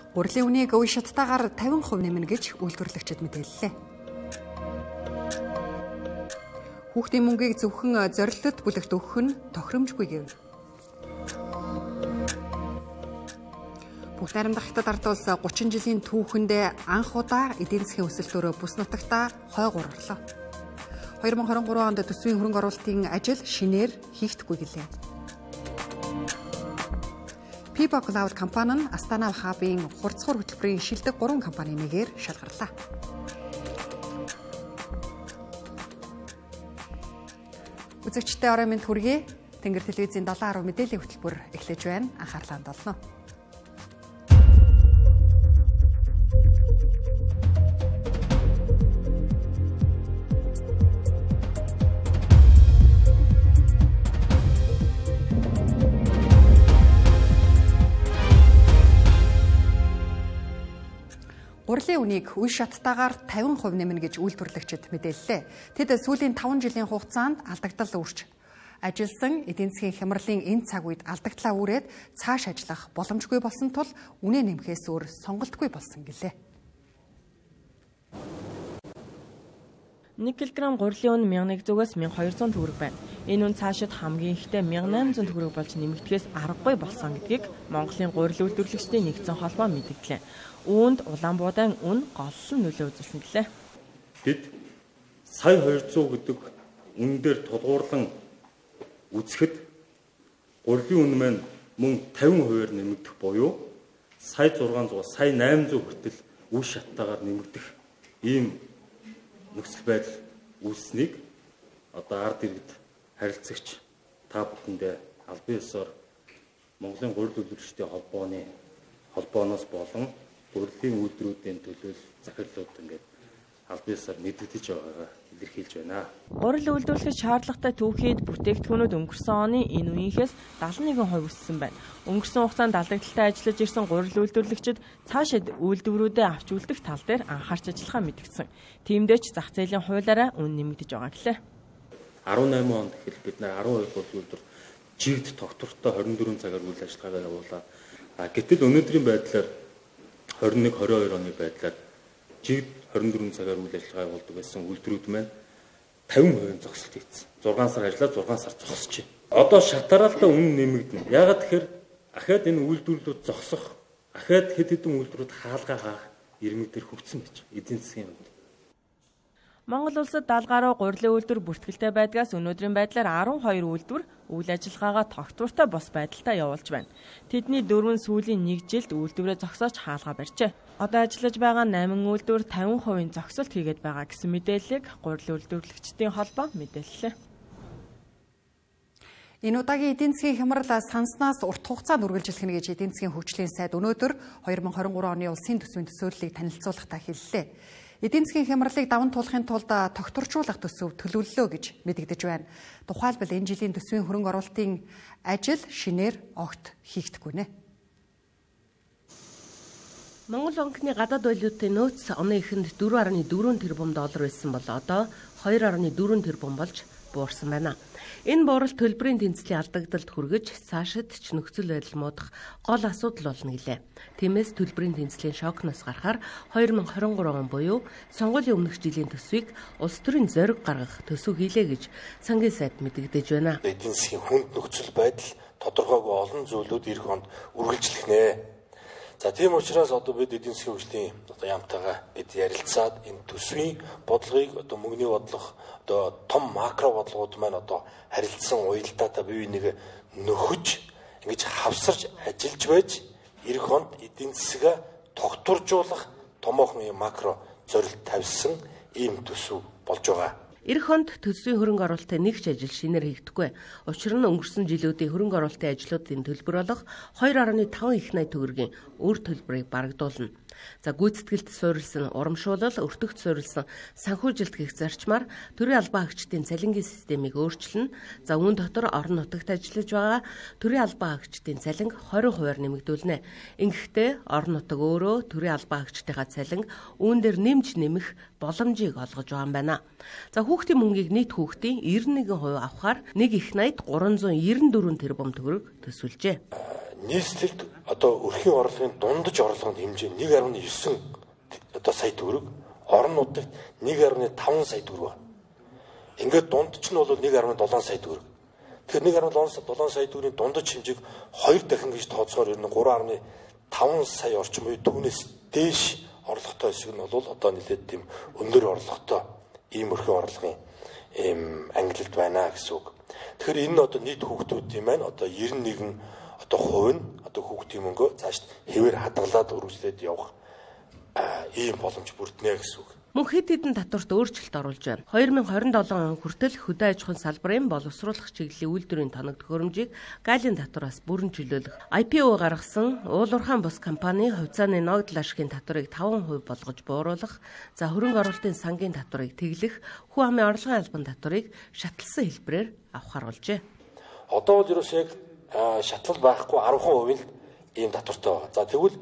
Гурилын үнийг үе шаттайгаар 50% нэмнэ гэж үйлдвэрлэгчид мэдээллээ. Хүүхдийн мөнгийг зөвхөн зорилтод бүлэгт өгөх нь тохиромжгүй гэв. Бүгд найрамдах Хятад ард улс 30 жилийн түүхэнд анх удаа эдийн засгийн өсөлтөөр бүс нутагта хойгуур орлоо. 2023 онд төсвийн хөрөнгө оруулалтын ажил шинээр хийгдэхгүй гэлээ. Pipa Cloud компани нь Астана хабын хурцхур хөтөлбөрийн шилдэг 3 компани нэгээр шалгарлаа. Үзэгчдээ орой мэнд хүргэе. Тэнгэр телевизийн 7:10 мэдээллийн хөтөлбөр эхлэж байна. Анхаарлаа хандуулна. Гурилын үнийг үе шаттайгаар 50% нэмнэ гэж үйлдвэрлэгчид мэдээллээ. Тэд сүүлийн 5 жилийн хугацаанд алдагдал үүрч ажилласан эдийн засгийн хямралын энэ цаг үед алдагдлаа үүрээд цааш ажиллах боломжгүй болсон тул үнэ нэмэхээс өөр сонголтгүй болсон гэлээ. 1 кг гурилын үн 1100-аас 1200 төгрөг байна. Энэ үн цаашид хамгийн ихдээ 1800 төгрөг болж нэмэгдэхээс аргагүй болсон гэдгийг Монголын гурил үйлдвэрлэгчдийн нэгдсэн холбоо мэдгдлээ. Үүнд улаан буудаан үн голлон нөлөө үзүүлсэн гэлээ. Бид сая 200 гэдэг үн дээр тулгуурлан үзэхэд гурилын үн маань мөн 50% нэмэгдэх буюу сая 600, сая 800 хүртэл үе шаттайгаар нэмэгдэх ийм нөхцөл байдал үүссэнийг одоо ард иргэд харилцагч та бүхэндээ албан ёсоор Монголын гурил үйлдвэрлэгчдийн холбооноос болон гурилын үйлдвэрүүдийн төлөөлөл захирлууд ингээд албан ёсоор мэдэгдэж байгаагаа илэрхийлж байна. Гурил үйлдвэрлэх шаардлагатай түүхийд бүтээгдэхүүнүүд өнгөрсөн оны энэ үеийнхээс 71% өссөн байна. Өнгөрсөн хугацаанд алдагдaltaй ажиллаж ирсэн гурил үйлдвэрлэгчид цаашид үйлдвэрүүдээ авч үлдэх тал дээр анхаарч ажиллахаа мэдгдсэн. Тиймдээ ч зах зээлийн хуулиараа үн нэмэгдэж байгаа гэлээ. 18 онд ихэл бид нар 12 гурил үйлдвэр жигд тогтвортой 24 цагаар үйл ажиллагаагаа явуулаа. Гэтэл өнөөдрийн байдлаар 21-22 оны байдлаар жигд 24 цагаар үйл ажиллагаа явуулдаг байсан үйлдвэрүүд маань 50% зогсолт хийсэн. 6 сар ажиллаад 6 сар зогсож байна. Одоо шатараалтаа үнэ нэмэгдэнэ. Яагаад тэгэхээр ахаад энэ үйлдвэрлэлүүд зогсох, ахаад хэд хэдэн үйлдвэрүүд хаалгаа хаах ирмэг дээр хөгжсөн гэж эдийн засгийн хувьд. Монгол улсад 70 гаруй гурилын үйлдвэр бүртгэлтэй байдгаас өнөөдрийн байдлаар 12 үйлдвэр үйл ажиллагаагаа тогтвортой бос байдалтай явуулж байна. Тэдний 4 сүүлийн 1 жилд үйлдвэрээ зогсоож хаалгаа барьжээ. Одоо ажиллаж байгаа 8 үйлдвэр 50% зогсолт хийгээд байгаа гэсэн мэдээллийг гурилын үйлдвэрлэгчдийн холбоо мэдээллээ. Энэ удаагийн эдийн засгийн хямрал санснаас урт хугацаанд үргэлжлэх гэж эдийн засгийн хөгжлийн сайд өнөөдөр 2023 оны улсын төсвийн төсөөллийг танилцуулахдаа хэллээ. Эдийн засгийн хямралыг даван туулахын тулд тогтворжуулах төсөв төлөвлөлөө гэж мэдэгдэж байна. Тухайлбал энэ жилийн төсвийн хөрөнгө оруулалтын ажил шинээр огт хийгдэхгүй нэ. Монгол банкны гадаад валютын нөөц оны эхэнд 4.4 тэрбум доллар байсан бол одоо 2.4 тэрбум болж буурсан байна. Энэ бууралт төлбөрийн тэнцлийн алдагдалд хүргэж цаашид ч нөхцөл байдал муудах гол асуудал болно гэлээ. Тиймээс төлбөрийн тэнцлийн шокноос гарахаар 2023 он буюу сонгуулийн өмнөх жилийн төсвийг улс төрийн зориг гаргах төсөв хийлээ гэж сангийн сайд мэдэгдэж байна. Эдийн засгийн хүнд нөхцөл байдал тодорхойгүй олон зүйлүүд эх онд үргэлжлэх нэ. За тийм учраас одоо бид эдийн засгийн хөгжлийн яамтайгаа бид ярилцаад энэ төсвийн бодлогыг одоо мөнгөний бодлого одоо том макро бодлогууд маань одоо харилцсан уялдаатай бие биенийг нөхөж ингэж хавсарч ажиллаж байж эх онд эдийн засгаа тогтворжуулах томоохон макро зорилт тавьсан ийм төсөв болж байгаа. Эх онд төсвийн хөрөнгө оруулалтын нэг ч ажил шинээр хийгдэхгүй. Учир нь өнгөрсөн жилүүдийн хөрөнгө оруулалтын ажлуудын төлбөр болох 2.5 их найт төгрөгийн өр төлбөрийг барагдуулна. За гүйцэтгэлд суурилсан урамшуулал, өртөгт суурилсан санхүүжилт гэх зарчмаар төрийн албан хаагчдын цалингийн системийг өөрчилнө. За үүн дотор орон нутагт ажиллаж байгаа төрийн албан хаагчдын цалин 20% нэмэгдүүлнэ. Ингэхдээ орон нутаг өөрөө төрийн албан хаагчдынхаа цалин үүн дээр нэмж нэмэх боломжийг олгож байгаа юм байна. За хүүхдийн мөнгийг нийт хүүхдийн 91% авахаар нэг их найт 394 тэрбум төгрөг төсвөлжээ. нийслэлд одоо өрхийн орлогын дундаж орлогын хэмжээ 1.9 одоо сая төгрөг, орон нутагт 1.5 сая төгрөг. Ингээд дундч нь бол 1.7 сая төгрөг. Тэгэхээр 1.7 сая төгрөгийн дундаж хэмжээг 2 дахин гэж тооцохоор ер нь 3.5 сая орчим буюу түүнээс дээш орлоготой хэсэг нь бол одоо нэлээд тийм өндөр орлоготой ийм өрхийн орлогын ангилалд байна гэсэн үг. Тэгэхээр энэ нь одоо нийт хүүхдүүдийн маань одоо 91 одоо хувь нь одоо хүүхдийн мөнгөө цааш хэвээр хадгалаад үргэлжлээд явах ийм боломж бүрднэ гэсэн үг. Мөн хэд хэдэн татварт өөрчлөлт оруулж байна. 2027 он хүртэл хөдөө аж ахуйн салбарын боловсруулах чиглэлийн үйлдвэрийн тоног төхөөрөмжийг галийн татвараас бүрэн чөлөөлөх. IPO гаргасан уулуурхаан бус компани хувьцааны ногдол ашигын татварыг 5% болгож бууруулах, за хөрөнгө оруулалтын сангийн татварыг тэглэх, хүү амын орлогын албан татварыг шатлсан хэлбэрээр авахар болжээ. Одоо бол ерөөс яг шатлал байхгүй 10% нь ийм татвартай байна. За тэгвэл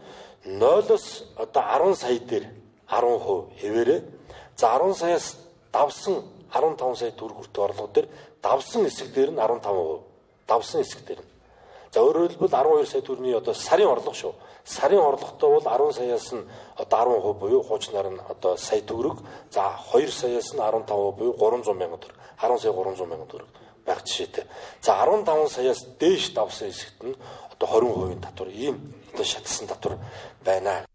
0-оос одоо 10 сая дээр 10% хэвээрээ. За 10 саяас давсан 15 сая төгрөг хүртэх орлого дээр давсан хэсэг дээр нь 15%. Давсан хэсэг дээр нь. За өөрөөр хэлбэл 12 сая төгрөгийн одоо сарын орлого шүү. Сарын орлоготой бол 10 саяас нь одоо 10% буюу хуучнаар нь одоо сая төгрөг. За 2 саяас нь 15% буюу 300 мянган төгрөг. 10 сая 300 мянган төгрөг байх жишээтэй. За 15 саяас дээш давсан хэсэгт нь одоо 20% татвар ийм одоо шатсан татвар байна.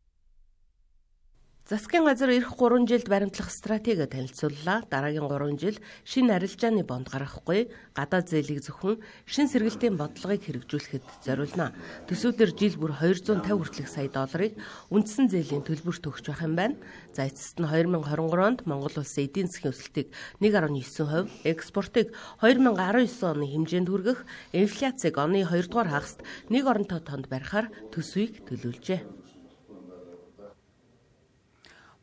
Засгийн газар эх 3 жилд баримтлах стратеги танилцууллаа. Дараагийн 3 жил шинэ арилжааны бонд гаргахгүй, гадаад зээлийг зөвхөн шин сэргэлтийн бодлогыг хэрэгжүүлэхэд зориулна. Төсвөлдөр жил бүр 250 хүртэлх сая долларыг үндсэн зээлийн төлбөрт өгч байх юм байна. За эцэст нь 2023 онд Монгол улсын эдийн засгийн өсөлтийг 1.9%, экспортыг 2019 оны хэмжээнд хүргэх, инфляцийг оны 2 дугаар хагаст нэг оронтой тонд барихаар төсвийг төлөвлөжээ.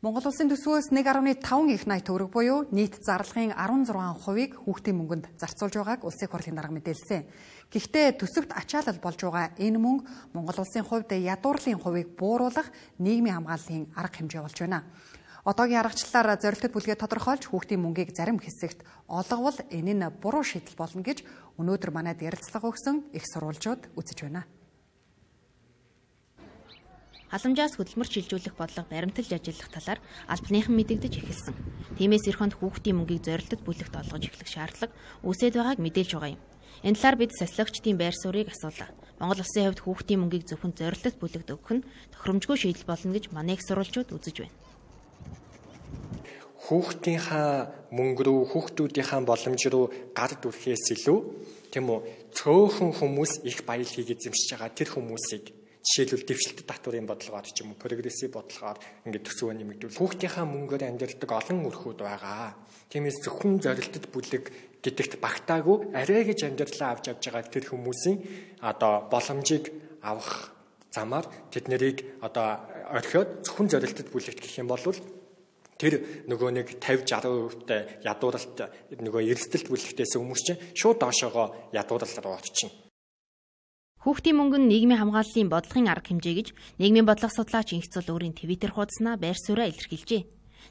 Монгол улсын төсвөөс 1.5 их найт төгрөг буюу нийт зарлагын 16%-ийг хүүхдийн мөнгөнд зарцуулж байгааг Улсын их хурлын дарга мэдээлсэн. Гэхдээ төсөвт ачаалал болж байгаа энэ мөнгө Монгол улсын хувьд ядуурлын хувийг бууруулах нийгмийн хамгааллын арга хэмжээ болж байна. Одоогийн аргачлалаар зорилттой бүлгээ тодорхойлж хүүхдийн мөнгийг зарим хэсэгт олговол энэ нь буруу шийдэл болно гэж өнөөдөр манайд ярилцлага өгсөн их сурвалжууд үзэж байна. Халамжаас хөдөлмөр шилжүүлэх бодлого баримталж ажиллах талаар албаныхан мэдэгдэж эхэлсэн. Тиймээс эх хонд хүүхдийн мөнгийг зорилтод бүлэгт олгож эхлэх шаардлага үүсэж байгааг мэдээлж байгаа юм. Энэ талаар бид социологчдын байр суурийг асуулаа. Монгол улсын хувьд хүүхдийн мөнгийг зөвхөн зорилтод бүлэгт өгөх нь тохиромжгүй шийдэл болно гэж манай их сурвалжууд үзэж байна. Хүүхдийнхаа мөнгө рүү, хүүхдүүдийнхаа боломж руу гард үрэхээс илүү тийм үү цөөхөн хүмүүс их баял хийгээд эзэмшиж байгаа тэр хүмүүсийг жишээлбэл дэвшилтэд татварын бодлогоор ч юм уу прогрессив бодлогоор ингээд төсвөө нэмэгдүүл. Хүүхдийнхаа мөнгөөр амьдардаг олон өрхүүд байгаа. Тиймээс зөвхөн зорилтод бүлэг гэдэгт багтаагүй арай гэж амьдралаа авч явж байгаа тэр хүмүүсийн одоо боломжийг авах замаар тэд нарыг одоо орхиод зөвхөн зорилтод бүлэгт гэх юм бол тэр нөгөө нэг 50-60% ядууралт нөгөө эрсдэлт бүлэгтээс хүмүүс чинь шууд доошоогоо ядуурал руу орчихно. Хүүхдийн мөнгө нь нийгмийн хамгааллын бодлогын арга хэмжээ гэж нийгмийн бодлого судлаач Инхцул өөрийн Твиттер хуудаснаа байр сууриа илэрхийлжээ.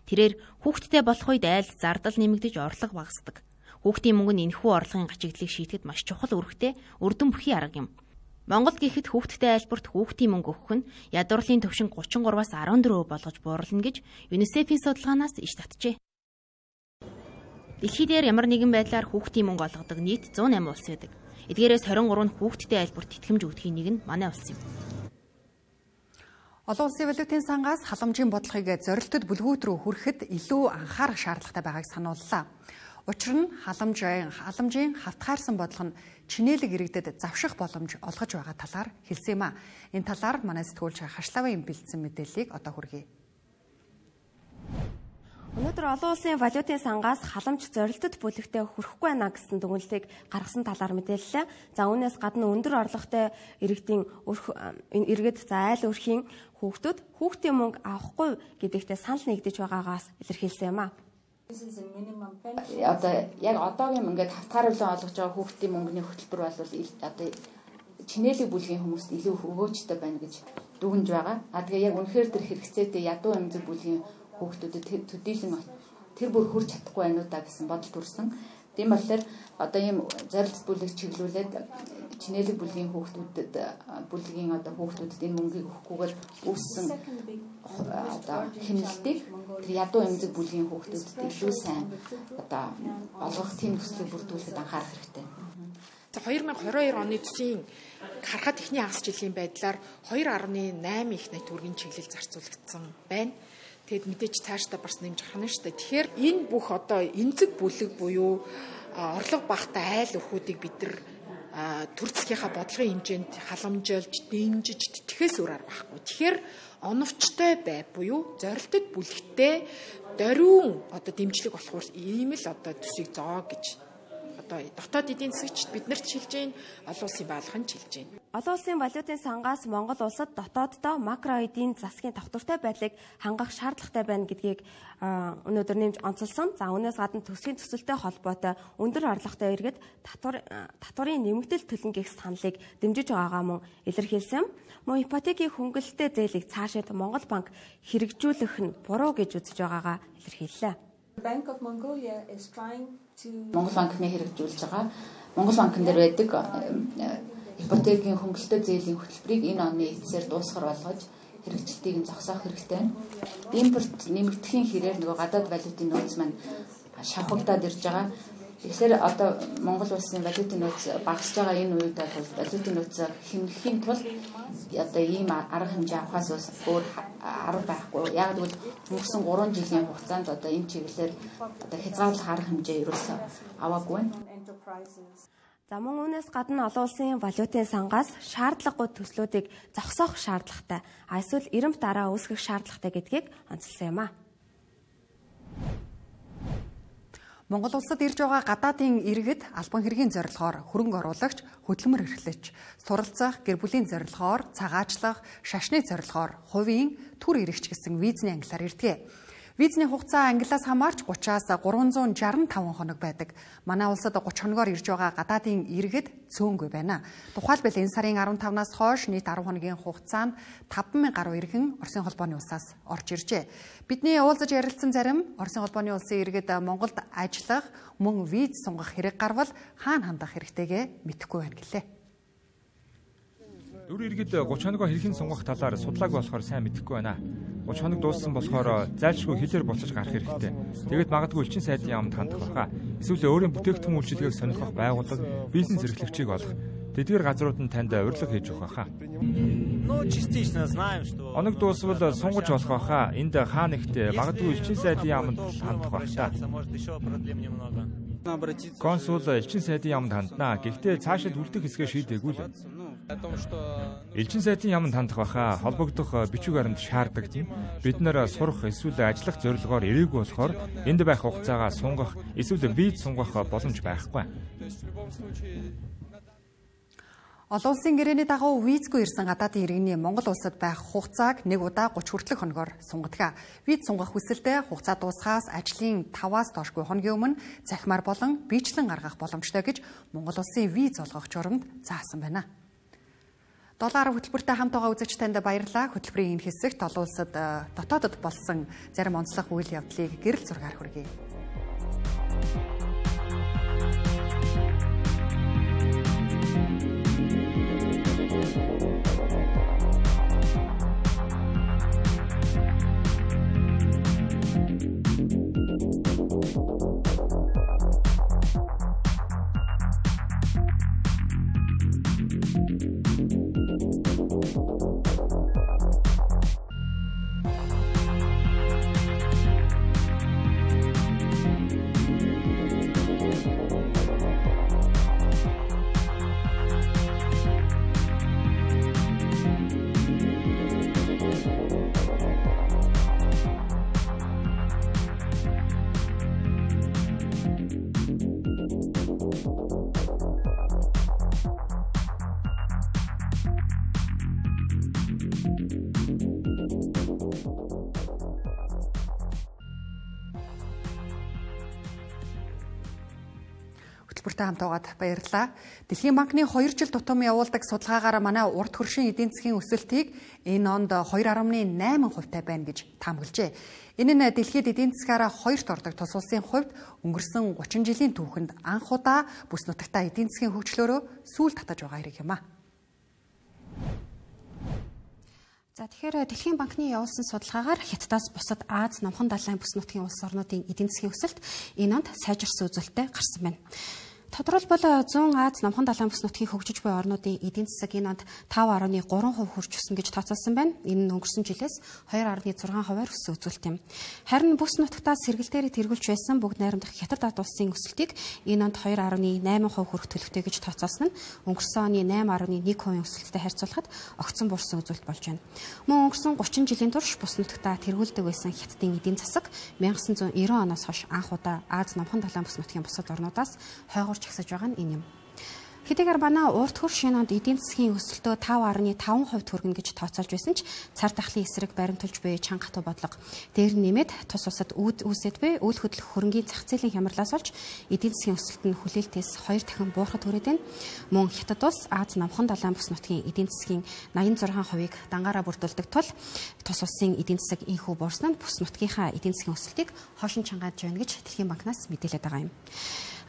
Тэрээр хүүхдтэй болох үед айлд зардал нэмэгдэж орлого багасдаг. Хүүхдийн мөнгө нь энэхүү орлогын гачигдлыг шийдэхэд маш чухал үүрэгтэй үрдэн бүхий арга юм. Монголд гэхэд хүүхдтэй айлбарт хүүхдийн мөнгө өгөх нь ядуурлын төвшин 33-аас 14% болгож буурлана гэж ЮНИСЕФ-ийн судалгаанаас иш татжээ. Дэлхийд ямар нэгэн байдлаар хүүхдийн мөнгө олгодог нийт 108 улс байдаг. Эдгээрээс 23 нь хүүхдтэй айлбарт итгэмж өгдөхийн нэг нь манай улс юм. Олон улсын валютын сангаас халамжийн бодлогыг зорилтод бүлгүүд рүү хүрэхэд илүү анхаарах шаардлагатай байгааг санууллаа. Учир нь халамжийн хавтгаарсан бодлого нь чинээлэг иргэдэд завших боломж олгож байгаа талаар хэлсэн юм а. Энэ талаар манай сэтгүүлч Хашлавын бэлдсэн мэдээллийг одоо хүргэе. Өнөөдөр олон улсын валютын сангаас халамж зорилтод бүлэгтээ хүрэхгүй байна гэсэн дүгнэлтийг гаргасан талаар мэдээллээ. За үүнээс гадна өндөр орлоготой иргэдийн иргэд за айл өрхийн хүүхдүүд хүүхдийн мөнгө авахгүй гэдэгтээ санал нэгдэж байгаагаас илэрхийлсэн юм а. Одоо яг одоогийн ингээд хавтгааруулан олгож байгаа хүүхдийн мөнгөний хөтөлбөр бол одоо чинээлэг бүлгийн хүмүүст илүү өгөөжтэй байна гэж дүгнж байгаа. Тэгээ яг үнэхээр тэр хэрэгцээтэй ядуу эмзэг бүлгийн хүүхдүүдэд төдийлөн тэр бүр хүрч чадахгүй байна уу да гэсэн бодол төрсөн. Тийм болохоор одоо ийм зорилт бүлэг чиглүүлээд чинээлэг бүлгийн хүүхдүүдэд одоо хүүхдүүдэд энэ мөнгийг өгөхгүйгээр үүссэн одоо хэмнэлтийг тэр ядуу эмзэг бүлгийн хүүхдүүдэд илүү сайн одоо олгох тийм төслийг бүрдүүлэхэд анхаарах хэрэгтэй. 2022 оны төсвийн харахад эхний хагас жилийн байдлаар 2.8 их найт төгрөгийн чиглэл зарцуулагдсан байна. Тэгэд мэдээж цаашдаа бас нэмж харах нь шүү дээ. Тэгэхээр энэ бүх одоо эмзэг бүлэг буюу орлого багтаа айл өрхүүдийг бид нар төр засгийнхаа бодлогын хэмжээнд халамжилж, дэмжиж тэтгэхээс өөр арга байхгүй. Тэгэхээр оновчтой бай буюу зорилтод бүлэгтээ дөрвөн одоо дэмжлэг болохоор ийм л одоо төсвийг зоо гэж одоо дотоод эдийн засагчид биднэрт шилжиж байна, олон улсын байгууллагын шилжиж байна. Олон улсын валютын сангаас Монгол улсад дотооддоо макро эдийн засгийн тогтвортой байдлыг хангах шаардлагатай байна гэдгийг өнөөдөр нэмж онцолсон. За үүнээс гадна төсвийн төсөлтэй холбоотой өндөр орлоготой иргэд татварын нэмэгдэл төлнө гэх саналыг дэмжиж байгаагаа мөн илэрхийлсэн. Мөн ипотекийн хөнгөлөлттэй зээлийг цаашид Монгол банк хэрэгжүүлэх нь буруу гэж үзэж байгаагаа илэрхийллээ. Монгол банкны хэрэгжүүлж байгаа Монгол банкн дээр байдаг ипотекийн хөнгөлөлтөө зээлийн хөтөлбөрийг энэ оны эцсээр дуусгар болгож хэрэгжилтийг нь зогсоох хэрэгтэй. Импорт нэмэгдэхийн хэрээр нөгөө гадаад валютын нөөц маань шавхагдаад ирж байгаа. Тэгэхээр одоо Монгол улсын валютын нөөц багасж байгаа энэ үед бол валютын нөөцөө хэмнэхийн тулд одоо ийм арга хэмжээ авахаас өөр арга байхгүй. Яг л өнгөрсөн 3 жилийн хугацаанд одоо энэ чиглэлээр одоо хязгаарлах арга хэмжээ ерөөсөө аваагүй байна. За мөн үүнээс гадна олон улсын валютын сангаас шаардлагагүй төслүүдийг зогсоох шаардлагатай. Эсвэл эрэмт дараа үүсгэх шаардлагатай гэдгийг онцолсон юм а. Монгол улсад ирж байгаа гадаадын иргэд албан хэргийн зорилгоор хөрөнгө оруулагч, хөдөлмөр эрхлэгч, суралцах, гэр бүлийн зорилгоор цагаачлах, шашны зорилгоор хувийн төр ирэгч гэсэн визний ангиллаар ирдэг. Визний хугацаа ангиллаас хамаарч 30-аас 365 хоног байдаг. Манай улсад 30 хоногоор ирж байгаа гадаадын иргэд цөөнгүй байна. Тухайлбал энэ сарын 15-наас хойш нийт 10 хоногийн хугацаанд 5,000 гаруй иргэн Оросын холбооны улсаас орж иржээ. Бидний уулзаж ярилцсан зарим Оросын холбооны улсын иргэд Монголд ажиллах, мөн виз сунгах хэрэг гарвал хаана хандах хэрэгтэйгээ мэдэхгүй байна гэлээ. Өр иргэд 30 хоногоо хэрхэн сунгах талаар судлаагүй болохоор сайн мэдэхгүй байна. 30 хоног дууссан болохоор зайлшгүй хэлээр буцаж гарах хэрэгтэй. Тэгээд магадгүй элчин сайдын яамд хандах байхаа. Эсвэл өөрийн бүтээгдэхүүн үйлчилгээг сонирхох байгууллага, бизнес эрхлэгчийг олох. Тэдгээр газрууд нь танд урилга хийж өгөх байхаа. Оног дуусвал сунгаж болох байхаа. Энд хаа нэгт магадгүй элчин сайдын яамд хандах байхаа. Консул элчин сайдын яамд ханднаа. Гэхдээ цаашид үлдэх хэсгээ шийдээгүй л. Элчин сайдын яамд хандах байхаа холбогдох бичиг баримт шаарддаг. Бид нэр сурах эсвэл ажиллах зорилгоор ирээгүй болохоор энд байх хугацаагаа сунгах эсвэл виз сунгах боломж байхгүй. Олон улсын гэрээний дагуу визгүй ирсэн гадаадын иргэний Монгол улсад байх хугацааг 1 удаа 30 хүртэлх хоногоор сунгадаг. Виз сунгах хүсэлтэд хугацаа дуусахаас ажлын 5-аас доошгүй хоногийн өмнө захимаар болон биечлэн гаргах боломжтой гэж Монгол улсын виз олгох журамд заасан байна. 7 хөтөлбөртэй хамт байгаа үзэгч танд баярлалаа. Хөтөлбөрийн энэ хэсэгт олон улсад дотоодод болсон зарим онцлог үйл явдлыг гэрэл зургаар хүргэе. төлбөртэй хамт байгаад баярлалаа. Дэлхийн банкны 2 жил тутам явуулдаг судалгаагаар манай урд хөршин эдийн засгийн өсөлтийг энэ онд 2.8% байна гэж таамаглажээ. Энэ нь дэлхийд эдийн засгаараа 2-т ордог тус улсын хувьд өнгөрсөн 30 жилийн түүхэнд анх удаа бүс нутагтаа эдийн засгийн хөгжлөөрөө сүүл татаж байгаа хэрэг юм а. За тэгэхээр Дэлхийн банкны явуулсан судалгаагаар Хятадаас бусад Аз номхон далайн бүс нутгийн улс орнуудын эдийн засгийн өсөлт энэ онд сайжирсан үзүүлэлттэй гарсан байна. Тодорхойлбол 100 Аз номхон далайн бүс нутгийн хөгжиж буй орнуудын эдийн засаг энэ онд 5.3% хүрч өссөн гэж тооцоолсон байна. Энэ нь өнгөрсөн жилээс 2.6%-аар өссөн үзүүлэлт юм. Харин бүс нутагтаа сэргэлтээр тэргүүлж байсан бүгд найрамдах Хятад ард улсын өсөлтийг энэ онд 2.8% хүрэх төлөвтэй гэж тооцоолсон нь өнгөрсөн оны 8.1% өсөлттэй харьцуулахад огцон буурсан үзүүлэлт болж байна. Мөн өнгөрсөн 30 жилийн турш бүс нутагтаа тэргүүлдэг байсан Хятадын эдийн засаг 1990 оноос хойш анх удаа Аз номхон далайн бүс нутгийн бусад орнуудаас хойгоор чагсаж байгаа нь энэ юм. Хэдийгээр манай урт хөрш энэ онд эдийн засгийн өсөлтөө 5.5% хүргэнэ гэж тооцоолж байсан ч цар тахлын эсрэг баримтулж буй чанга хатуу бодлого дээр нэмээд тус усад үүсэт буй үйл хөдлөх хөрөнгийн зах зээлийн хямралаас болж эдийн засгийн өсөлт нь хүлээлтээс 2 дахин буурахад хүрээд байна. Мөн Хятад улс Аз номхон далайн бүс нутгийн эдийн засгийн 86%-ийг дангаараа бүрдүүлдэг тул тус улсын эдийн засаг инхүү буурсан нь бүс нутгийнхаа эдийн засгийн өсөлтийг хошин чангааж байна гэж Дэлхийн банкнаас мэдээлээд байгаа юм.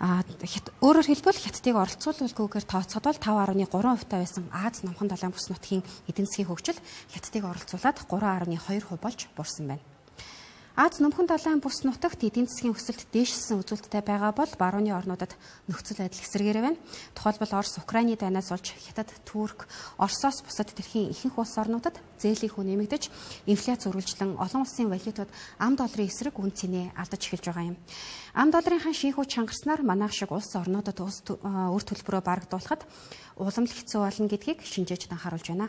Өөрөөр хэлбэл Хятадыг оролцуулалгүйгээр тооцоход бол 5.3% байсан Аз номхон далайн бүс нутгийн эдийн засгийн хөгжил Хятадыг оролцуулаад 3.2% болж буурсан байна. Аз номхон далайн бүс нутагт эдийн засгийн өсөлт дээшилсэн үзүүлэлттэй байгаа бол барууны орнуудад нөхцөл байдал эсэргээрээ байна. Тухайлбал Орос, Украины дайнаас болж Хятад, Турк, Оросоос бусад дэлхийн ихэнх улс орнуудад зээлийн хүн нэмэгдэж, инфляц үргэлжлэн олон улсын валютууд ам долларын эсрэг үн цэнэ алдаж эхэлж байгаа юм. Ам долларын шинхүү чангарснаар манайх шиг улс орнуудад үр төлбөрөө барагдуулахад уламл хэцүү болно гэдгийг шинжээж анхааруулж байна.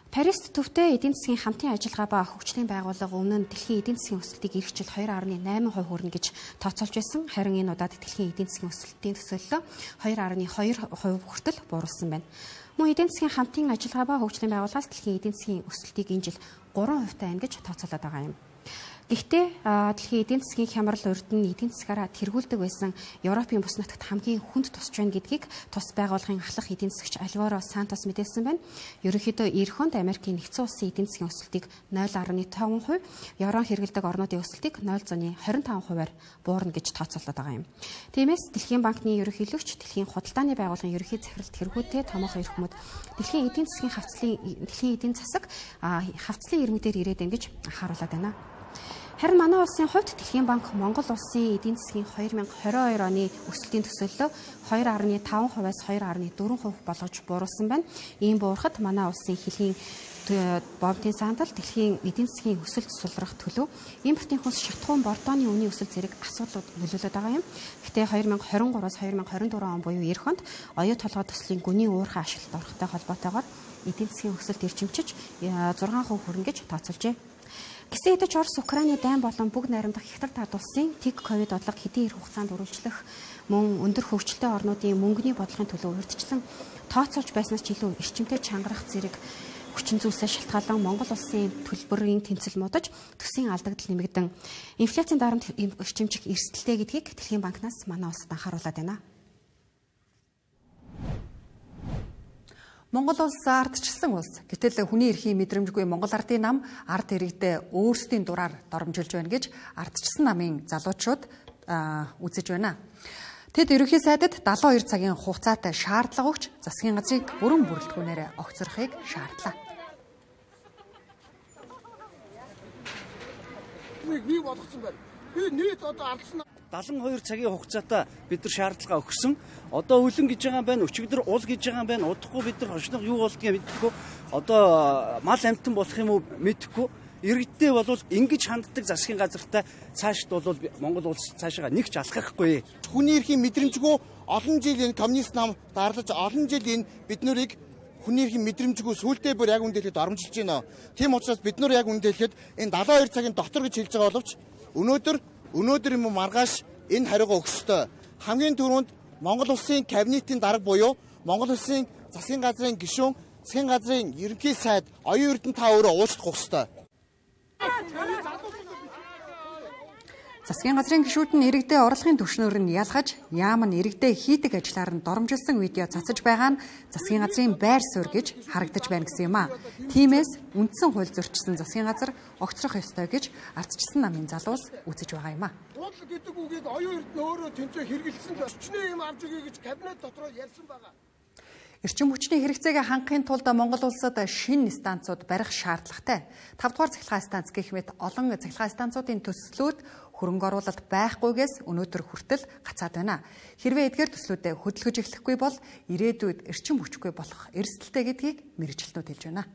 Парист төвтэй эдийн засгийн хамтын ажиллагаа ба хөгжлийн байгууллага өмнө нь дэлхийн эдийн засгийн өсөлтийг эх жил 2.8% хүрнэ гэж тооцоолж байсан. Харин энэ удаад дэлхийн эдийн засгийн өсөлтийн төсөөллөө 2.2% хүртэл бууруулсан байна. Мөн эдийн засгийн хамтын ажиллагаа ба хөгжлийн байгууллагаас дэлхийн эдийн засгийн өсөлтийг энэ жил 3% тань гэж тооцоолоод байгаа юм. Гэхдээ дэлхийн эдийн засгийн хямрал урд нь эдийн засгаараа тэргүүлдэг байсан Европын бүс нутагт хамгийн хүнд тусч байна гэдгийг тус байгууллагын ахлах эдийн засагч Альваро Сантос мэдээлсэн байна. Ерөнхийдөө эх хонд Америкийн нэгдсэн улсын эдийн засгийн өсөлтийг 0.5%, Еврон хэрэглэдэг орнуудын өсөлтийг 0.25%-аар буурна гэж тооцоолоод байгаа юм. Тиймээс Дэлхийн банкны ерөнхийлөгч Дэлхийн худалдааны байгууллагын ерөнхий захирал тэргүүтэй томоохон эрх мэдэл дэлхийн эдийн засаг хавцлын ирмэг дээр ирээд байна гэж анхааруулад байна. Харин манай улсын хувьд Дэлхийн банк Монгол улсын эдийн засгийн 2022 оны өсөлтийн төсөөллөө 2.5%-аас 2.4% болгож бууруулсан байна. Ийм буурахад манай улсын хэлийн бомтын сандал дэлхийн эдийн засгийн өсөлт сулрах төлөв импортын хүнс шатхуун бордооны үнийн өсөлт зэрэг асуудлууд нөлөөлөд байгаа юм. Гэхдээ 2023-аас 2024 он буюу эх хонд оюу толгой төслийн гүний уурхай ашиглалт орохтой холбоотойгоор эдийн засгийн өсөлт эрчимчиж 6% хүрнэ гэж тооцоолжээ. Гэсэн хэдий ч Орос, Украины дайн болон бүгд найрамдах Хятад ард улсын тэг ковид бодлого хэдийн эх хугацаанд үргэлжлэх мөн өндөр хөгжилтэй орнуудын мөнгөний бодлогын төлөө урьдчилан тооцоолж байснаас ч илүү эрчимтэй чангарах зэрэг хүчин зүйлсээс шалтгаалan Монгол улсын төлбөрийн тэнцэл муудаж төсвийн алдагдал нэмэгдэн инфляцийн дарамт эрчимчих эрсдэлтэй гэдгийг Дэлхийн банкнаас манай улсад анхааруулад байна. Монгол улс ардчилсан улс. Гэтэл хүний эрхийн мэдрэмжгүй Монгол ардын нам ард иргэдээ өөрсдийн дураар доромжилж байна гэж ардчилсан намын залуучууд үзэж байна. Тэд ерөнхий сайдад 72 цагийн хугацаатай шаардлага өгч засгийн газрыг бүрэн бүрэлдэхүүнээр огцрохыг шаардлаа. Нэг болгосон байна. Би нийт одоо ардсан 72 цагийн хугацаатай бид нар шаардлага өгсөн. Одоо үлэн гэж байгаа юм байна, өчигдөр уул гэж байгаа юм байна. Удахгүй бид нар хошног юу болдгийг мэдэхгүй. Одоо мал амтан болох юм уу мэдэхгүй. Иргэдтэй бол ингэж ханддаг засгийн газартай цаашд бол Монгол улс цаашаа нэг ч алхахгүй. Хүний эрхийн мэдрэмжгүй олон жил энэ коммунист нам дарлаж олон жил энэ бид нарыг хүний эрхийн мэдрэмжгүй сүултээ бүр яг үндэлэхэд оромжилж байна. Тийм учраас бид нар яг үндэлэхэд энэ 72 цагийн дотор гэж хэлж байгаа боловч өнөөдөр юм маргааш энэ хариугаа өгөх ёстой. Хамгийн түрүүнд Монгол улсын кабинетийн дарга буюу Монгол улсын засгийн газрын гишүүн, засгийн газрын ерөнхий сайд оюун эрдэнэ та өөрөө уучлах ёстой. Засгийн газрын гишүүд нь иргэдээ орлогын түвшнээр нь ялгаж, яам нь иргэдээ хийдэг ажлаар нь доромжилсан видео цацаж байгаа нь засгийн газрын байр суурь гэж харагдаж байна гэсэн юм а. Тиймээс үндсэн хууль зөрчсөн засгийн газар огцрох ёстой гэж ардчилсан намын залуус үзэж байгаа юм а. Хууль гэдэг үгийг оюун эрдэнэ өөрөө тэнцээ хэрэгжилсэн л өчнөө юм авч өгье гэж кабинет дотор ярьсан байгаа. Эрчим хүчний хэрэгцээг хангахын тулд Монгол улсад шинэ станцууд барих шаардлагатай. 5 дугаар цахилгаан станц гэх мэт олон цахилгаан станцуудын төслүүд хөрөнгө оруулалт байхгүйгээс өнөөдөр хүртэл гацаад байна. Хэрвээ эдгээр төслүүдэд хөдөлгөж эхлэхгүй бол ирээдүйд эрчим хүчгүй болох эрсдэлтэй гэдгийг мэргэжилтнүүд хэлж байна.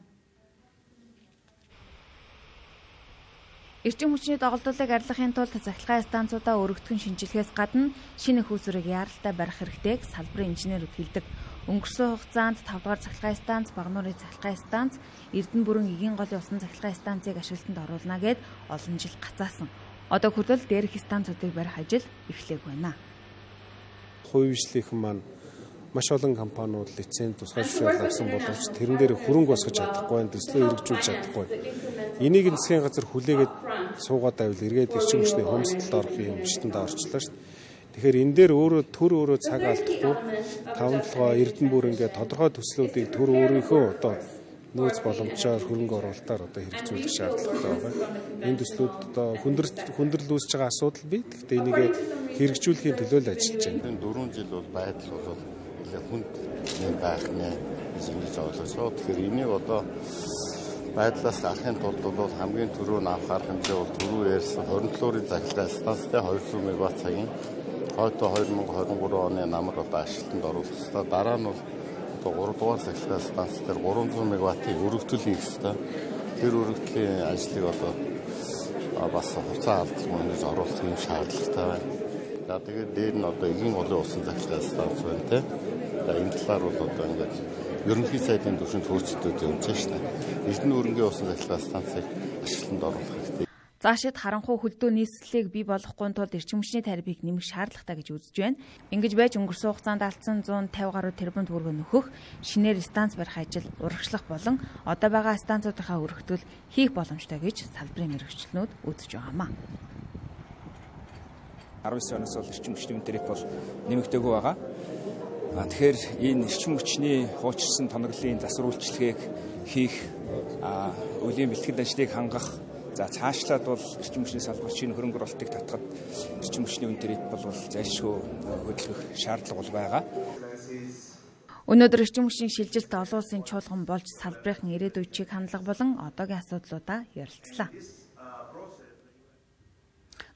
Эрчим хүчний доголдуулыг арилгахын тулд цахилгаан станцуудаа өргөтгөн шинжилгээс гадна шинэ хүүсвэрийг яаралтай барих хэрэгтэйг салбарын инженерүүд хэлдэг. Өнгөрсөн хугацаанд 5 дугаар цахилгаан станц, Багнуурын цахилгаан станц, Эрдэнэ бүрэн Эгийн голын усан цахилгаан станцыг ашиглалтанд оруулна гэд олон жил гацаасан. Одоо хүртэл дээрх станцуудыг барих ажил эхлэх байна. Хувьчлийнхэн маань маш олон компаниуд лиценз тусгай зөвшөөрөл авсан боловч тэрэн дээр хөрөнгө босгож чадахгүй, төслөө хэрэгжүүлж чадахгүй. Энийг засгийн газар хүлээгээд суугаад байвал эргээд эрчим хүчний хөмсөлтөд орох юм шатанд орчлоо шүү дээ. Тэгэхээр энэ дээр өөрөө цаг алдахгүй 5-7 Эрдэнэ бүр ингээд тодорхой төслүүдийг төр өөрийнхөө одоо нөөц боломжоор хөрөнгө оруулалтаар одоо хэрэгжүүлэх шаардлагатай байгаа. Энэ төслүүд одоо хүндрэл үүсэж байгаа асуудал бий. Гэхдээ энийг хэрэгжүүлэхийн төлөө л ажиллаж байна. Энэ 4 жил бол байдал бол нэлээд хүнд байх нэ гэж ойлгож байна. Тэгэхээр энийг одоо байдлаас гарахын тулд бол хамгийн түрүү нь авах арга хэмжээ бол түрүү ярьсан 27-ын цахилгаан станцтай 200 мегаватт цагийн хойдоо 2023 оны намар одоо ашиглалтанд оруулах ёстой. Дараа нь бол 3 дугаар цахилгаан станц дээр 300 мегаваттыг өргөтгөл хийх ёстой. Тэр өргөтлийн ажлыг одоо бас хугацаа алдах мөнгөж оруулах юм шаардлагатай байна. За тэгээд дээр нь одоо Эгийн голын усан цахилгаан станц байна те. Энэ талаар бол одоо ингээд ерөнхий сайдын түвшинд хөөцөлтөд явж байна шүү дээ. Эрдэнэ өргөнгийн усан цахилгаан станцыг ашиглалтанд оруулах хэрэгтэй. Заашид харанхуй хөлдөө нийслэлийг бий болгохгүй тулд эрчим хүчний тарифыг нэмэх шаардлагатай гэж үзэж байна. Ингэж байж өнгөрсөн хугацаанд алдсан 150 гаруй тэрбум төгрөг нөхөх шинээр станц барих ажил урагшлах болон одоо байгаа станцуудынхаа өргөтгөл хийх боломжтой гэж салбарын мэргэжилтнүүд үзэж байгаамаа. 19 оноос бол эрчим хүчний тариф бол нэмэгдээгүй байгаа. Тэгэхээр энэ эрчим хүчний хуучирсан тоноглолын засвар үйлчлэгийг хийх, үеийн бэлтгэл ажлыг хангах, за цаашлаад бол эрчим хүчний салбарт шинэ хөрөнгө оруулалтыг татахад эрчим хүчний үн тариф бол зайлшгүй хөдөлгөх шаардлага бол байгаа. Өнөөдөр эрчим хүчний шилжилт олон улсын чуулган болж салбарын ирээдүйн чиг хандлага болон одоогийн асуудлуудаа ярилцлаа.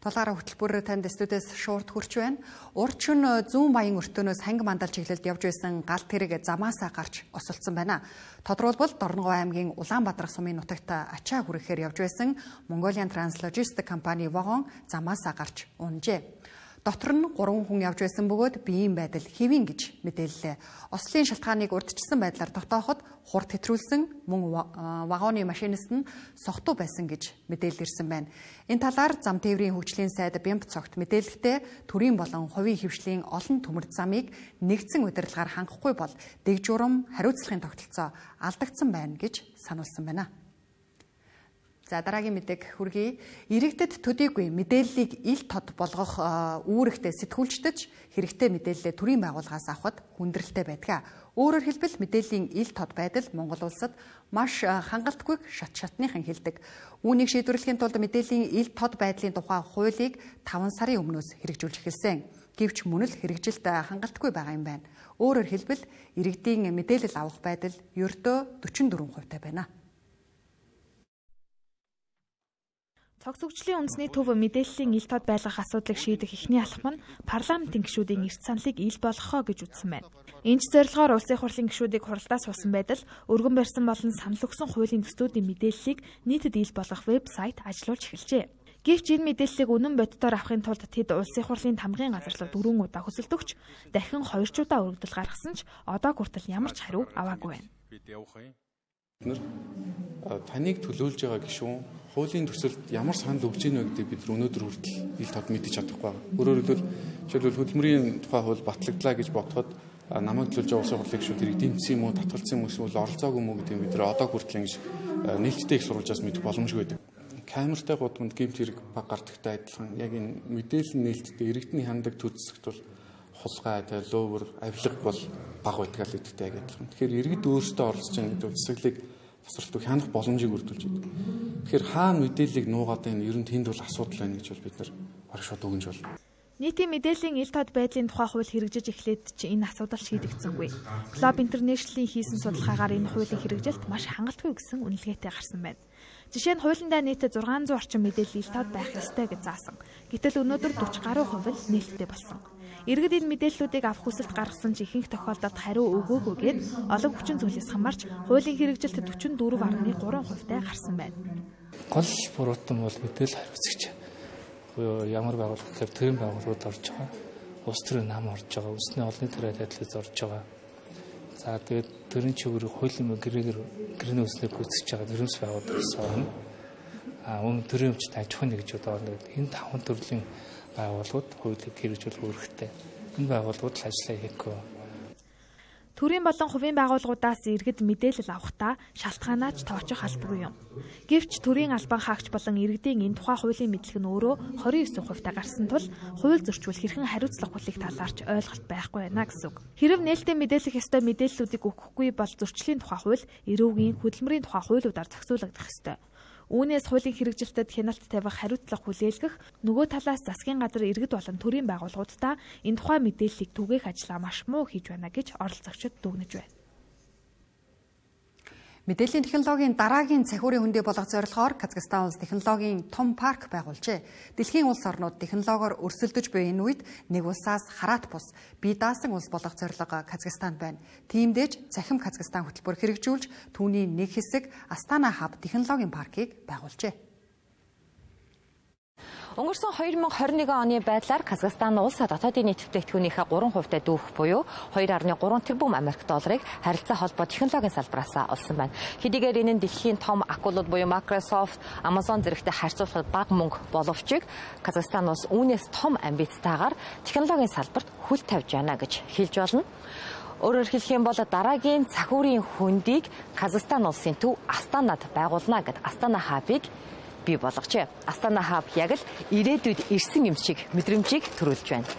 Тулгаараа хөтөлбөр танд студиэс шуурд хүрч байна. Урчин зүүн баян өртөөнөөс ханги мандал чиглэлд явж байсан галт хэрэг замаасаа гарч осолцсон байна. Тодорхойлбол Дорногов аймгийн Улаанбаатар сумын нутагт ачаа хүрэхээр явж байсан Mongolian Translogistic компани вагон замаасаа гарч унжээ. Дотор нь 3 хүн явж байсан бөгөөд биеийн байдал хэвэн гэж мэдээллээ. Ослын шалтгааныг урьдчилсан байдлаар тогтооход хурд хэтрүүлсэн мөн вагоны машинист нь согтуу байсан гэж мэдээлэл ирсэн байна. Энэ талаар зам тээврийн хөгжлийн сайд Бямб цогт мэдээлэлтэй төрийн болон хувийн хөвшлийн олон төмөрд замыг нэгдсэн удирдлагаар хангахгүй бол дэг журам хариуцлагын тогтолцоо алдагдсан байна гэж сануулсан байна. За дараагийн мэдээг хүргэе. Иргэдэд төдийгүй мэдээллийг ил тод болгох үүрэгтэй сэтгүүлчдэж хэрэгтэй мэдээлэлээ төрийн байгууллагаас авахд хүндрэлтэй байдаг. Өөрөөр хэлбэл мэдээллийн ил тод байдал Монгол улсад маш хангалтгүйг шатныхан хэлдэг. Үүнийг шийдвэрлэхийн тулд мэдээллийн ил тод байдлын тухай хуулийг 5 сарын өмнөөс хэрэгжүүлж эхэлсэн. Гэвч мөн л хэрэгжилт хангалтгүй байгаа юм байна. Өөрөөр хэлбэл иргэдийн мэдээлэл авах байдал ердөө 44% байна. Цогц хөгжлийн үндэсний төв мэдээллийн ил тод байлгах асуудлыг шийдэх эхний алхам нь парламентын гишүүдийн эрт саналыг ил болгохоо гэж үзсэн байна. Энэ ч зорилгоор улсын хурлын гишүүдийг хуралдаас суусан байдал өргөн барьсан болон санал өгсөн хуулийн төслүүдийн мэдээллийг нийтэд ил болгох вебсайт ажиллуулж эхэлжээ. Гэвч энэ мэдээллийг үнэн боддоор авахын тулд тэд улсын хурлын тамгын газарлаг 4 удаа хүсэлт өгч дахин 2 удаа өргөдөл гаргасан ч одоо хүртэл ямар ч хариу аваагүй байна. Таныг төлөөлж байгаа гишүүн хуулийн төсөлд ямар санал өгч ийнө гэдэг бид өнөөдөр хүртэл ил тод мэдэж чадахгүй байна. Өөрөөр хэлбэл жишээлбэл хөдөлмөрийн тухай хууль батлагдлаа гэж бодоход намайг төлөөлж байгаа улсын хурлын гишүүд хэрэг дэмжсэн юм уу, татгалцсан юм уу, оролцоогүй юм уу гэдэг бид одоо хүртэл ингэж нээлттэй их сурвалжаас мэдэх боломжгүй байдаг. камертай гудамд гэмт хэрэг баг гардагтай адилхан яг энэ мэдээлэл нээлттэй иргэдний хандаг төр зэсэгт бол хулгай, лөөвөр, авилга бол баг байдаг л гэдэгтэй яг адилхан. Тэгэхээр иргэд өөрсдөө оролцож байгаа гэдэг зэсгэлийг тасралтыг хянах боломжийг өргөдүүлж байдаг. Тэгэхээр хаана мэдээллийг нуугаад байна, ер нь тэнд бол асуудал байна гэж бол бид нар бараг шууд өгнж байна. Нийтийн мэдээллийн ил тод байдлын тухай хууль хэрэгжиж эхлээд ч энэ асуудал шийдэгдсэнгүй. Globe International-ийн хийсэн судалгаагаар энэ хуулийн хэрэгжилт маш хангалтгүй гэсэн үнэлгээтэй гарсан байна. Жишээ нь хуулиндаа нийт 600 орчим мэдээлэл ил тод байх ёстой гэж заасан. Гэтэл өнөөдөр 40 гаруй хувь л нээлттэй болсон. Иргэд энэ мэдээллүүдийг авах хүсэлт гаргасан ч ихэнх тохиолдолд хариу өгөөгүйгээд олон хүчин зүйлээс хамаарч хуулийн хэрэгжилт 44.3% гарсан байна. Гол буруутан бол мэдээлэл хариуцагч ямар байгууллага гэхээр төрийн байгууллагууд орж байгаа. Улс төрийн нам орж байгаа. Үндэсний олонний төрийн адилтгаас орж байгаа. За тэгээд төрийн чиглэл хуулийн гэрээний үслийг гүйцэтгэж байгаа төрөмс байгууллагаас орно. Өмнө төрийн өмчт аж ахуйн нэгжүүд орно. Энэ 5 төрлийн байгууллагууд хуулийг хэрэгжүүлэх үүрэгтэй. Энэ байгууллагууд л ажиллаа хийхгүй. Төрийн болон хувийн байгууллагуудаас иргэд мэдээлэл авахдаа шалтгаанаач тооцох албагүй юм. Гэвч төрийн албан хаагч болон иргэдийн энэ тухай хуулийн мэдлэг нь өөрөө 29% гарсан тул хууль зөрчил хэрхэн хариуцлага хүлээх талаарч ойлголт байхгүй байна гэсэн үг. Хэрэв нээлттэй мэдээлэх ёстой мэдээллүүдийг өгөхгүй бол зөрчлийн тухай хууль, эрүүгийн, хөдөлмөрийн тухай хуулиудаар зохицуулагдах ёстой. Үүнээс хуулийн хэрэгжилтэд хяналт тавих хариуцлага хүлээлгэх нөгөө талаас засгийн газар иргэд болон төрийн байгууллагуудаа энэ тухай мэдээллийг түгээх ажлаа маш муу хийж байна гэж оролцогчид дүгнэж байна. Мэдээллийн технологийн дараагийн цахиурын хөндөө болгох зорилгоор Казахстан улс технологийн том парк байгуулжээ. Дэлхийн улс орнууд технологиор өрсөлдөж буй энэ үед нэг улсаас хараат бус бие даасан улс болох зорилго Казахстанд байна. Тиймдээж Цахим Казахстан хөтөлбөр хэрэгжүүлж түүний нэг хэсэг Астана Хаб технологийн паркийг байгуулжээ. Өнгөрсөн 2021 оны байдлаар Казахстан улс дотоодын нийт бүтээгдэхүүнийхээ 3% дүүрэх буюу 2.3 тэрбум Америк долларыг харилцаа холбоо технологийн салбараас олсон байна. Хэдийгээр энэ нь дэлхийн том акулууд буюу Microsoft, Amazon зэрэгтэй харьцуулахад бага мөнгө боловч Казахстан улс үүнээс том амбицтайгаар технологийн салбарт хөл тавьж байна гэж хэлж болно. Өөрөөр хэлэх юм бол дараагийн цахиурын хөндийг Казахстан улсын төв Астанад байгуулна гэд Астана Хабыг бий болгожээ. Астана Хаб яг л ирээдүйд ирсэн юм шиг мэдрэмжийг төрүүлж байна.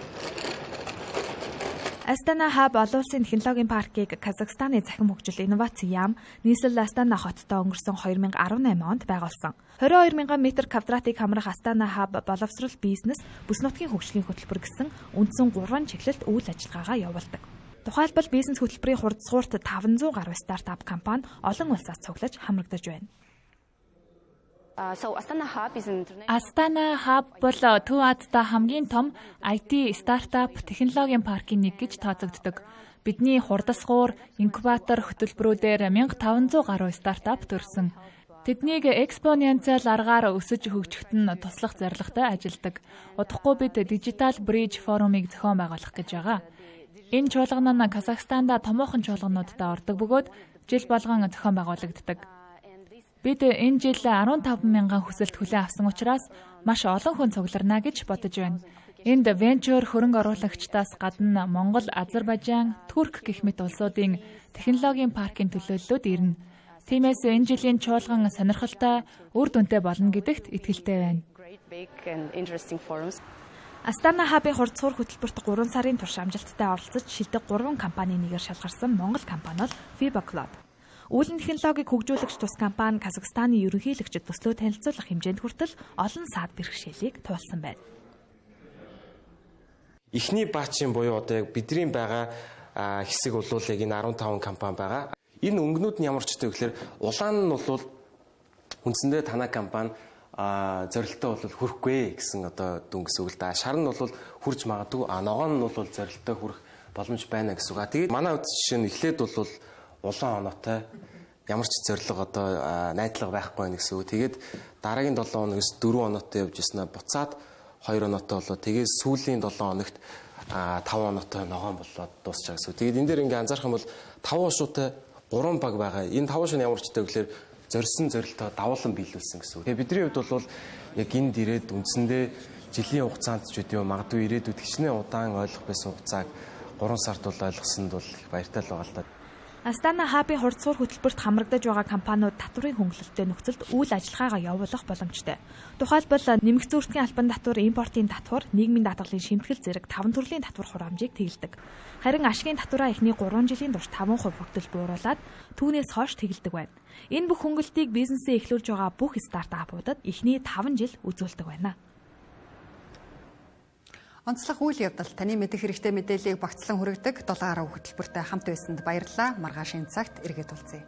Астана Хаб олон улсын технологийн паркийг Казахстаны захин хөгжил инновац яам нийслэл Астана хоттой өнгөрсөн 2018 онд байгуулсан. 22 мянган метр квадратыг хамрах Астана Хаб боловсрол бизнес бүс нутгийн хөгжлийн хөтөлбөр гэсэн үндсэн 3 чиглэлд үйл ажиллагаагаа явуулдаг. Тухайлбал бизнес хөтөлбөрийн хурдсгуурт 500 гаруй стартап компани олон улсаас цуглаж хамрагдаж байна. Астана Хаб бол Төв Азиада хамгийн том IT стартап технологийн паркийн нэг гэж тооцогддог. Бидний хурдсгуур, инкубатор хөтөлбөрүүдээр 1500 гаруй стартап төрсөн. Тэднийг экспоненциал аргаар өсөж хөгжөхөд нь туслах зорилготой ажилладаг. Удахгүй бид Digital Bridge форумыг зохион байгуулах гэж байгаа. Энэ чуулган нь Казахстанда томоохон чуулгануудад ордог бөгөөд жил болгон зохион байгуулагддаг. Бид энэ жил 15 мянган хүсэлт хүлээн авсан учраас маш олон хүн цугларна гэж бодож байна. Энд венчур хөрөнгө оруулагчдаас гадна Монгол, Азербайжан, Турк гэх мэт улсуудын технологийн паркийн төлөөллүүд ирнэ. Тиймээс энэ жилийн чуулган сонирхолтой, үр дүнтэй болно гэдэгт итгэлтэй байна. Астана Хабын хурдсгуур хөтөлбөрт 3 сарын турш амжилттай оролцож шилдэг 3 компанийн нэгээр шалгарсан Монгол компани бол Fiba Cloud. Үүлэн технологиг хөгжүүлэгч тус компани Казахстаны ерөнхийлөгчд төслөө танилцуулах хэмжээнд хүртэл олон саад бэрхшээлийг туулсан байна. Эхний баачийн буюу одоо яг бидний байгаа хэсэг улуулыг энэ 15 компани байгаа. Энэ өнгөнүүд нь ямар ч гэдэг гэхээр улаан нь бол үндсэндээ танай компани зорилттой бол хүрэхгүй гэсэн одоо дүн гэсэн үг л да. Шар нь бол хүрж магадгүй, ногоон нь бол зорилттой хүрэх боломж байна гэсэн үг. Тэгээд манай үд жишээ нь эхлээд бол улаан оноотой ямар ч зорилго одоо найдлага байхгүй байх гэсэн үг. Тэгээд дараагийн 7 хоногоос 4 оноотой явж ирсэн буцаад 2 оноотой болоо. Тэгээд сүүлийн 7 хоногт 5 оноотой ногоон болоод дуусчаа гэсэн үг. Тэгээд энэ дээр ингээ анзаарах юм бол 5 уушуутай 3 баг байгаа. Энэ 5 уушны ямар ч гэдэг гэхээр зорьсон зорилтоо давуулан биелүүлсэн гэсэн үг. Тэгээд бидний хувьд бол яг энд ирээд үндсэндээ жилийн хугацаанд ч үгүй магадгүй ирээдүйд хичнээн удаан ойлгох байсан хугацааг 3 сард бол ойлгосонд бол их баяртай л байгаа л да. Астана хабын хурцлуур хөтөлбөрт хамрагдаж байгаа компаниуд татврын хөнгөлөлттэй нөхцөлд үйл ажиллагаагаа явуулах боломжтой. Тухайлбал нэмэгц зүүртгийн албан татвар, импортын татвар, нийгмийн даатгалын шимтгэл зэрэг 5 төрлийн татвар хураамжийг тэгэлдэг. Харин ашигын татвараа эхний 3 жилийн турш 5% хүртэл бууруулад түүнээс хойш тэгэлдэг байна. Энэ бүх хөнгөлтийг бизнесээ эхлүүлж байгаа бүх стартапуудад эхний 5 жил үзүүлдэг байна. Онцлог үйл явдал таны мэдэх хэрэгтэй мэдээллийг багцлан хүргэдэг 7 гаруй хөтөлбөртэй хамт байсанд баярлалаа. Маргааш энэ цагт эргээд уулзъя.